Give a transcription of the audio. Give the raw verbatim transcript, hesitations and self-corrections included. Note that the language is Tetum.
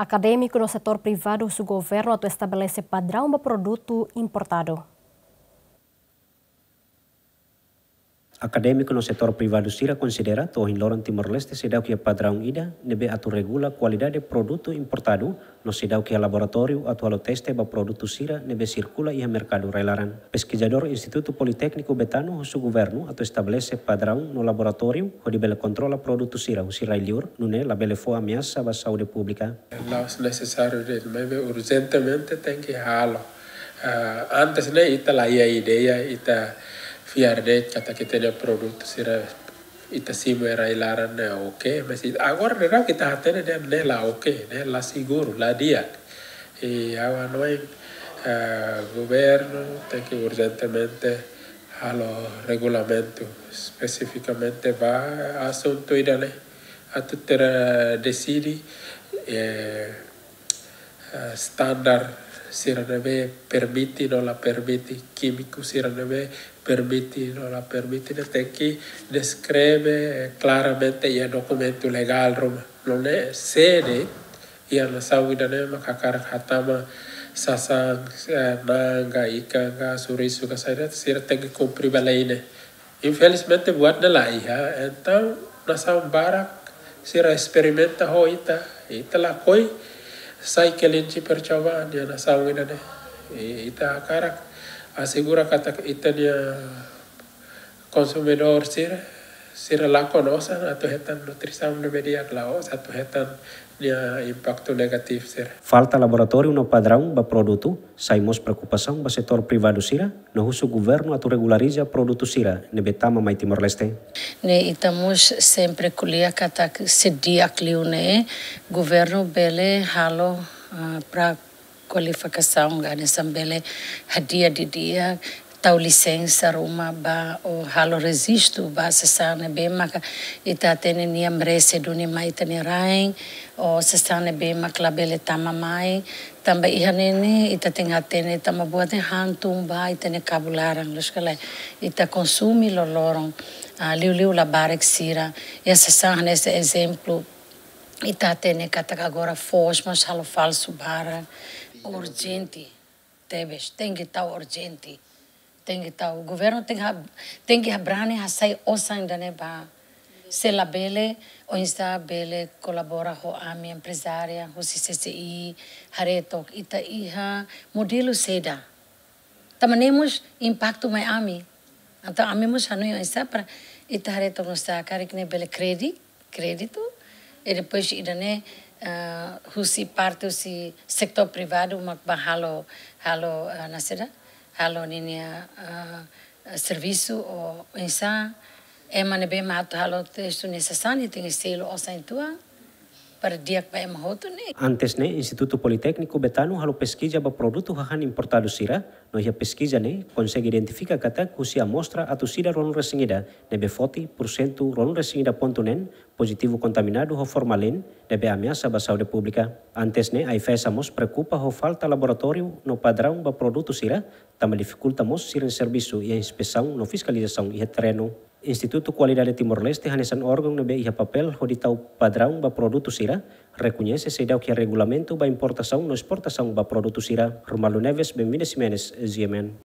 Akadémiku no setór privadu husu governu atu estabelese padraun ba produtu importadu. Akadémiku no setór privadu sira konsidera to'o ohin loron Timor-Leste seidauk iha padraun ida ne'ebé atu regula kualidade produtu importadu, no seidauk iha laboratóriu atu halo teste ba produtu sira ne'ebé sirkula iha merkadu rai-laran. Peskizadór Institutu Politékniku Betano husu governu atu estabelese padraun no laboratóriu hodi bele kontrola produtu sira husi rai-liur, nune'e labele fó ameasa ba saúde públika. La'ós nesesáriu de'it, maibé urjentemente tenke halo. Ah, antes ne'e ita la iha ideia, ita fiar de'it katak ita-nia produtu sira ita simu iha rai-laran ne'e oke, mas it-, agora daudaun ita hatene dehan ne'e la oke, ne'e la seguru, la di'ak. I ha'u hanoin, ah, governu tenke urjentemente halo regulamentu espesifikamente ba asuntu ida-ne'e, atu ita deside, eh, eh, standar sira ne'ebé permite no la permite, kímiku sira ne'ebé permite no la permite, ne'e tenke deskreve, eh, klaramente iha dokumentu legál ruma. Nune'e sé de'it iha nasaun ida-ne'e mak hakarak hatama sasán, eh, na'an ka ikan ka surisu ka saida, sira tenke kumpre ba lei ne'e. Infelizmente buat ne'e la iha, entaun nasaun barak sira esperimenta ho ita, ita lakohi sai kelinci percobaan iha nasaun ida-ne'e. I ita hakarak asegura katak ita-nia konsumidór sira, sira lakon osan atu hetan nutrisaun ne'ebé di'ak, la'ós atu hetan nia impaktu negativu sira. Falta laboratóriu no padraun ba produtu sai mós preokupasaun ba setór privadu sira, no husu governu atu regulariza produtu sira ne'ebé tama mai Timor-Leste. Ne'e ita mós sempre ko'alia katak se di'ak liu ne'e, governu bele halo, ah, pra kualifikasaun, ka hanesan bele hadi'a didi'ak, tau lisensa ruma ba, ou halo rejistu ba sasán ne'ebé maka ita hatene nia merese duni mai ita-nia rain, ou sasán ne'ebé mak labele tama mai, tanba iha ne'e ne'e ita tenke hatene tanba buat ne'e hantun ba ita-nia kabun laran, loos ka lae, ita konsume loroloron, ah, liuliu labarik sira, iha sasán hanesan ezemplu, ita hatene katak agora foos mós halo falsu barak, urjente, tebes, tenke tau urjente, tenke tau, governu tenke ha-, tenke habrani hasai osan ida-ne'e ba. Se labele, oinsá bele kolabora ho ami emprezáriu, husi C C I, haree took ita iha modelu saida. Tanba ne'e mós impaktu mai ami. Entaun ami mós hanoin oinsá para ita haree took nu'usá karik ne'e bele kredi-, kréditu. I depois ida-ne'e, ah, husi parte husi setór privadu mak bá halo, halo, ah, nasaida, halo ninia, ah, servisu ou oinsá. Ema ne'ebé mak atu halo teste ne'e sasán ne'e tenke selu osan uitoan para di'ak ba ema hotu ne'e. Antes ne'e, Institutu Politékniku Betano halo peskiza ba produtu hahán importadu sira, no iha peskiza ne'e konsege identifika katak husi amostra atus ida ruanulu-resin-ida ne'ebé foti, porsentu ruanulu-resin-ida pontu neen pozitivu kontaminadu ho formalin, ne'ebé ameasa ba saúde públika. Antes ne'e, AIFAESA mós preokupa ho falta laboratóriu no padraun ba produtu sira, tanba difikulta mós sira-nia servisu iha inspesaun no fiskalizasaun iha terrenu. Institutu Kualidade Timor-Leste hanesan órgaun ne'ebé iha papél hodi tau padraun ba produtu sira, rekoñese seidauk iha regulamentu ba importasaun no esportasaun ba produtu sira. Romualdo Neves, Benvinda Ximenes, G M N.